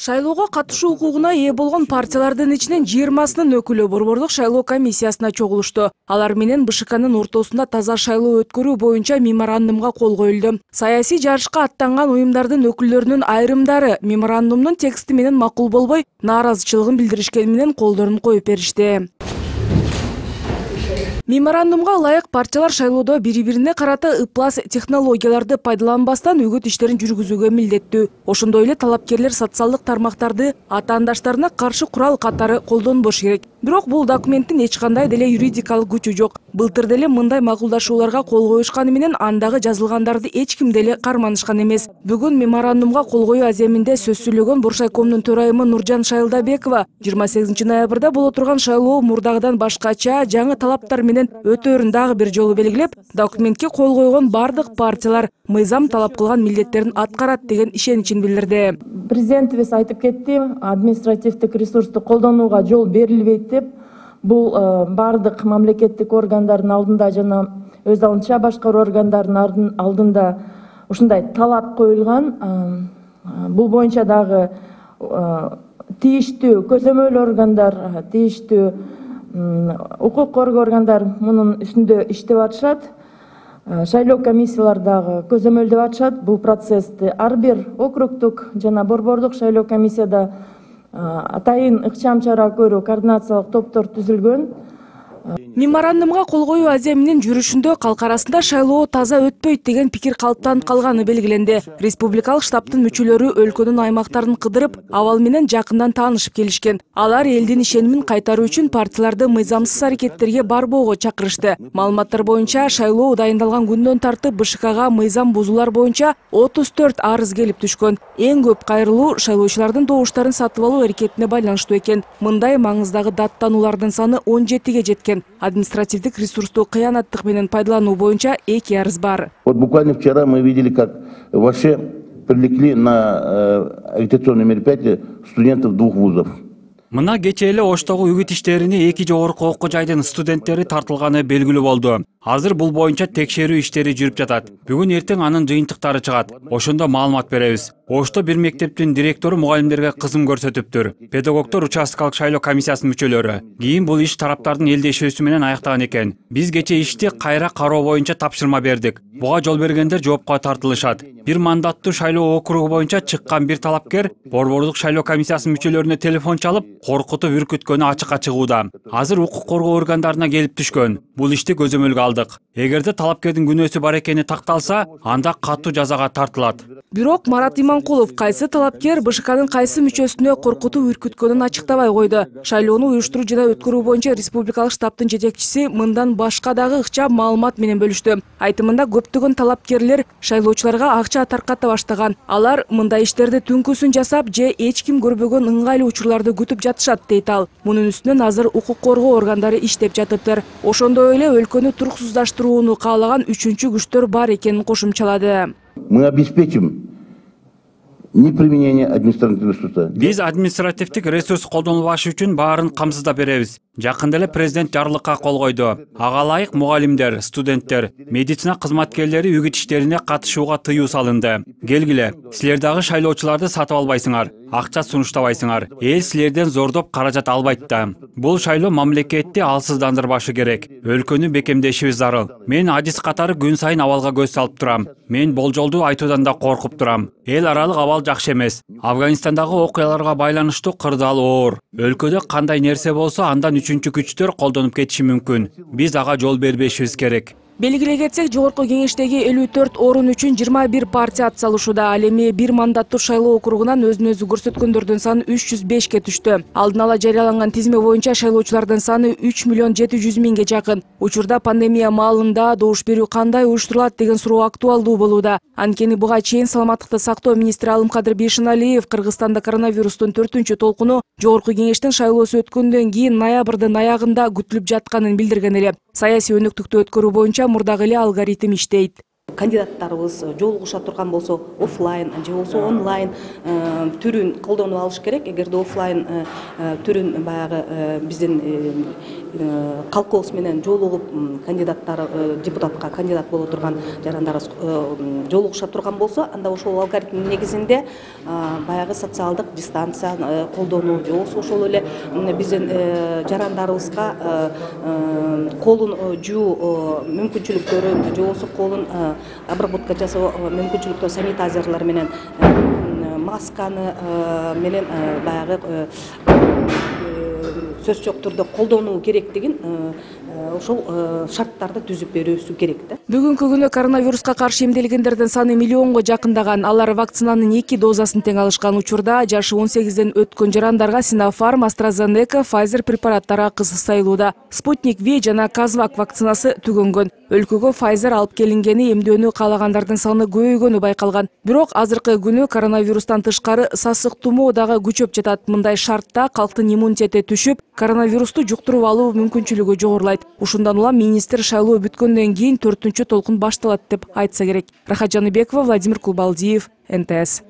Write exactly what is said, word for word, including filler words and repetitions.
Шайлоого катышуу укугуна ээ болгон партиялардын ичинен жыйырмасынын өкүлү борбордук шайлоо комиссиясына чогулушту. Алар менен БШКнын ортосунда таза шайлоо өткөрүү боюнча меморандумга кол коюлду. Саясий жарышка аттанган уюмдардын өкүлдөрүнүн айрымдары меморандумдун тексти менен макул болбой, нааразычылыгын билдиришкени менен колдорун коюп беришти. Меморандумга ылайык партиялар шайлоодо бири-бирине карата ыплас технологияларды пайдаланбастан үгүт иштерин жүргүзүүгө милдеттүү. Ошондой эле талапкерлер социалдык тармактарды атаандаштарына каршы курал катары колдонбош керек. Бирок бул документтин эч кандай деле юридикалык күчү жок. Былтыр деле мындай макулдашууларга кол коюшканы менен андагы жазылгандарды эч ким деле карманышкан эмес. Бүгүн меморандумга кол коюу аземинде сөз сүйлөгөн Боршайкомдун төрайымы Нуржан Шайылдабекова жыйырма сегизинчи ноябрда боло турган шайлоо мурдагыдан башкача жаңы талаптар менен өтөөрүн дагы бир жолу белгилеп, документке кол койгон бардык партиялар мыйзам талап кылган милдеттерин аткарат деген ишеничин билдирди. Президентибиз айтып кетти, административдик ресурсту колдонууга жол берилбейт деп. Бул бардык мамлекеттик органдардын алдында жана өз алдынча башкаруу органдарынын алдында ушундай талап коюлган. Бул боюнча дагы тийиштүү көзөмөл органдар, тийиштүү укук коргоо органдар мунун үстүндө иштеп атышат. Шайлоо комиссиялар дагы көзөмөлдөп атышат. Бул процессти ар бир округдук жана борбордук шайлоо комиссияда атайын ыкчам чара көрүү координациялык топтор түзүлгөн. Меморандумга кол коюу аземинин жүрүшүндө калк арасында шайлоо таза өтпөйт деген пикир калыптанып калганы белгиленди. Республикалык штабтын мүчөлөрү өлкөнүн аймактарын кыдырып, абал менен жакындан таанышып келишкен. Алар элдин ишенимин кайтаруу үчүн партияларды мыйзамсыз аракеттерге барбоого чакырышты. Маалыматтар боюнча шайлоо дайындалган күндөн тартып БШКга мыйзам бузуулар боюнча отуз төрт арыз келип түшкөн. Эң көп кайрылуу шайлоочулардын добуштарын сатып алуу аракетине байланыштуу экен. Мындай маңыздагы даттануулардын саны он жетиге жеткен. Административдик ресурсту кыянаттык менен пайдалануу боюнча эки арыз бар. Вот буквально вчера мы видели, как вообще привлекли на агитационные мероприятия студентов двух вузов. Мына кечээ эле Оштогу үгүт иштерине эки жогорку окуу жайдын студенттери тартылганы белгилүү болду. Азыр бул боюнча текшерүү иштери жүрүп жатат. Бүгүн эртең анын жыйынтыктары чыгат. Ошондо маалымат беребиз. Ошто бир мектептин директору мугалимдерге кызым көрсөтүптүр. Педагогдор участкалык шайлоо комиссиясынын мүчөлөрү. Кийин бул иш тараптардын элдешүүсү менен аяктаган экен. Биз кечээ ишти кайра кароо боюнча тапшырма бердик. Буга жол бергендер жоопко тартылышат. Бир мандаттуу шайлоо округу боюнча чыккан бир талапкер борбордук шайлоо комиссиясынын мүчөлөрүнө телефон чалып, коркутуп үркүткөнү ачыкка чыгууда. Азыр укук коргоо органдарына келип түшкөн. Бул ишти көзөмөлгө алдык. Эгерде талапкердин күнөөсү бар экени такталса, анда катуу жазага тартылат. Бирок Марат Иманкулов кайсы талапкер БШКнын кайсы мүчөсүнө коркутуп үркүткөнүн ачыктабай койду. Шайлоону уюштуруу жана өткөрүү боюнча республикалык штабтын жетекчиси мындан башка дагы ыкчам маалымат менен бөлүштү. Айтымында көптөгөн талапкерлер шайлоочуларга акча тарката баштаган. Алар мындай иштерди түнкүсүн жасап же эч ким көрбөгөн ыңгайлуу учурларды күтүп жатышат дейт ал. Мунун үстүнөн азыр укук коргоо органдары иштеп жатыптыр. Ошондой эле өлкөнү туруксуздаштырууну каалаган үчүнчү күчтөр бар экенин кошумчалады. Мы обеспечим неприменение административного ресурса. Биз административдик ресурс колдонулбашы үчүн баарын камсыздап беребиз. Жакында эле президент жарлыкка кол койду. Ага ылайык мугалимдер, студенттер, медицина кызматкерлери үгүт иштерине катышууга тыюу салынды. Келгиле, силер дагы шайлоочуларды сатып албайсыңар, акча сунуштабайсыңар. Эл силерден зордоп каражат албайт да. Бул шайлоо мамлекетти алсыздандырбашы керек. Өлкөнү бекемдешибиз зарыл. Мен адис катары күн сайын абалга көз салып турам. Мен болжолду айтуудан да коркуп турам. Эл аралык абал жакшы эмес. Афганистандагы окуяларга байланыштуу кырдаал оор. Өлкөдө кандай нерсе болсо андан үчүнчү күчтөр колдонуп кетиши мүмкүн. Биз ага жол бербешибиз керек. Белгилей кетсек, жогорку кеңештеги элүү төрт орун үчүн жыйырма бир партия атсалышууда. Ал эми бир мандаттуу шайлоо округунан өзүн өзү көрсөткөндөрдүн саны үч жүз бешке түштү. Алдын ала жарыяланган тизме боюнча шайлоочулардын саны үч миллион жети жүз миңге жакын. Учурда пандемия маалында добуш берүү кандай уюштурулат деген суроо актуалдуу болууда. Анткени буга чейин саламаттыкты сактоо министри Алымкадыр Бейшеналиев Кыргызстанда коронавирустун төртүнчү толкуну жогорку кеңештин шайлоосу өткөндөн кийин ноябрдын аягында күтүлүп жатканын билдирген эле. Саясий өнүктүктү өткөрүү боюнча мурдагы эле алгоритм иштейт. Кандидаттарыбыз жолугуша турган болсо офлайн же болсо онлайн түрүн колдонуп алыш керек. Эгерде офлайн түрүн баягы биздин калкыбыз менен жолугуп кандидаттар депутатка кандидат боло турган жарандарыбыз жолугуша турган болсо, анда ошол алгоритмдин негизинде баягы социалдык дистанция колдонуу же болбосо ошол эле биздин жарандарыбызга колун жуу мүмкүнчүлүктөрүн же болбосо колун обработка жасоо мүмкүнчүлүктөр санитайзерлер менен масканы менен баягы сөз жок түрдө колдонуу керектигин ошол шарттарды түзүп берүүсү керек да. Бүгүнкү күнү коронавируска каршы эмделгендердин саны миллионго жакындаган. Алар вакцинанын эки дозасын тең алышкан учурда жашы он сегизден өткөн жарандарга Sinopharm, AstraZeneca, Pfizer препараттары акысыз сайылууда. Sputnik V жана Казвак вакцинасы түгөнгөн. Өлкөгө Pfizer алып келингени эмдөөнү каалагандардын саны көбөйгөнү байкалган. Бирок азыркы күнү коронавирустан тышкары сасык тумоо дагы күчөп жатат. Мындай шартта калктын иммунитети түшүп, коронавирусту жуктуруп алуу мүмкүнчүлүгү жогорулайт. Ушундан улам министр шайлоо бүткөндөн кийин төртүнчү толкун башталат деп айтса керек. Рахат Жаныбекова, Владимир Кулбалдиев, эн тэ эс.